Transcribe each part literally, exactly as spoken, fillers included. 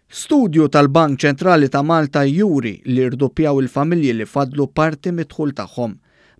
Studju tal-Bank Ċentrali ta' Malta juri li rduppjaw il-familji li faddlu parti mid-dħul tagħhom.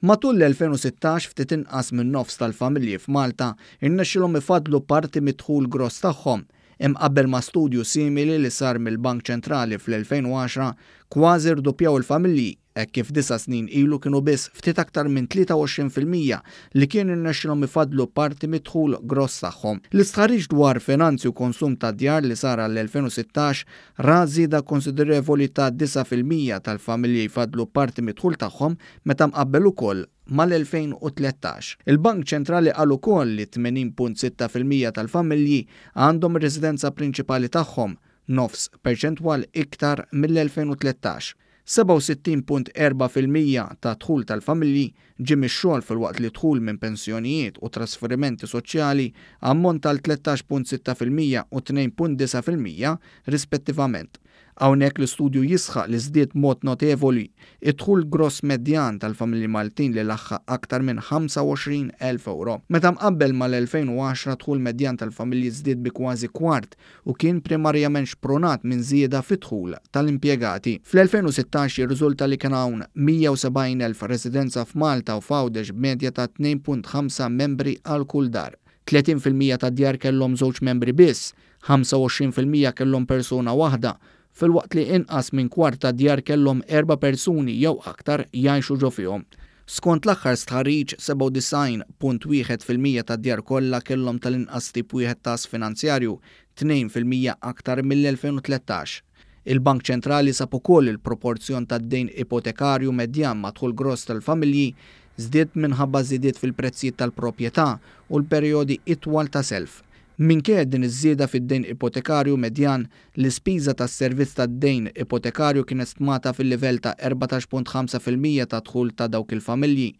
Matul l-elfejn u sittax ftit inqas minn nofs tal-familji f'Malta irnexxilhom ifaddlu parti mid-dħul gross tagħhom. Imqabbel ma' studju simili li sar mill-Bank Ċentrali fl-elfejn u għaxra, kważi rduppjaw il-familji, hekk kif disa' snin ilu kienu biss ftit aktar minn tlieta u għoxrin fil-mija li kien irnexxilhom ifaddlu parti mid-dħul gross tagħhom. L-istħarriġ dwar finanzi u konsum ta' djar li sar għall-elfejn u sittax ra żieda konsiderevoli ta' disa' fil-mija tal-familji jfaddlu parti mid-dħul tagħhom meta mqabbel ukoll mal-elfejn u tlettax. Il-Bank Ċentrali qal ukoll li tmenin punt sitta fil-mija tal-familji għandhom ir-residenza prinċipali tagħhom, nofs perċentwal iktar mill-elfejn u tlettax. sebgħa u sittin punt erba' fil-mija ta' dħul tal-familji ġie mix-xogħol filwaqt li dħul minn pensjonijiet u trasferimenti soċjali ammonta għal tlettax punt sitta fil-mija u tnejn punt disa' fil-mija rispettivament. Hawnhekk l-istudju jisħaq li żdied mod notevoli id-dħul gross medjan tal-familji Maltin li laħħaq aktar minn ħamsa u għoxrin elf euro. Meta mqabbel mal-elfejn u għaxra dħul medjan tal-familji żdied bi kważi kwart u kien primarjament xprunat minn żieda fid-dħul tal-impjegati. Fl-elfejn u sittax jirriżulta li kien hawn mija u sebgħin elf residenza f'Malta u f'Għawdex b'medja ta' tnejn punt ħamsa membri għal kull dar. tletin fil-mija tad-djar kellhom żewġ membri biss, ħamsa u għoxrin fil-mija kellhom persuna waħda, filwaqt li inqas minn kwart ta' djar kellhom erba' persuni jew aktar jgħixu ġo fihom. Skont l-aħħar stħarriġ, sebgħa u disgħin punt wieħed fil-mija tad-djar kollha kellhom tal-inqas tip wieħed ta' ass finanzjarju, tnejn fil-mija aktar mill-elfejn u tlettax. Il-Bank Ċentrali sab ukoll il-proporzjon tad-dejn ipotekarju medjan ma' dħul gross tal-familji żdied minħabba żidiet fil-prezzijiet tal-proprjetà u l-perjodi itwal ta' self. Minkejja din iż-żieda fid-dejn ipotekarju medjan, l-ispiża tas-servizz tad-dejn ipotekarju kienet stmata fil-livell ta' erbatax punt ħamsa fil-mija ta' dħul ta' dawk il-familji,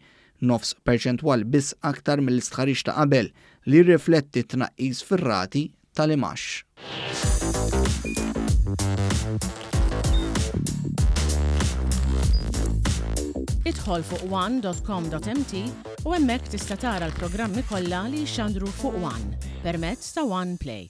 nofs perċentwal biss aktar mill-istħarriġ ta' qabel li jirrifletti tnaqqis fir-rati tal-imax. Idħol fuq one dot com dot m t u hemmhekk tista' tara l-programmi kollha li jixxandru fuq One permezz ta' One Play.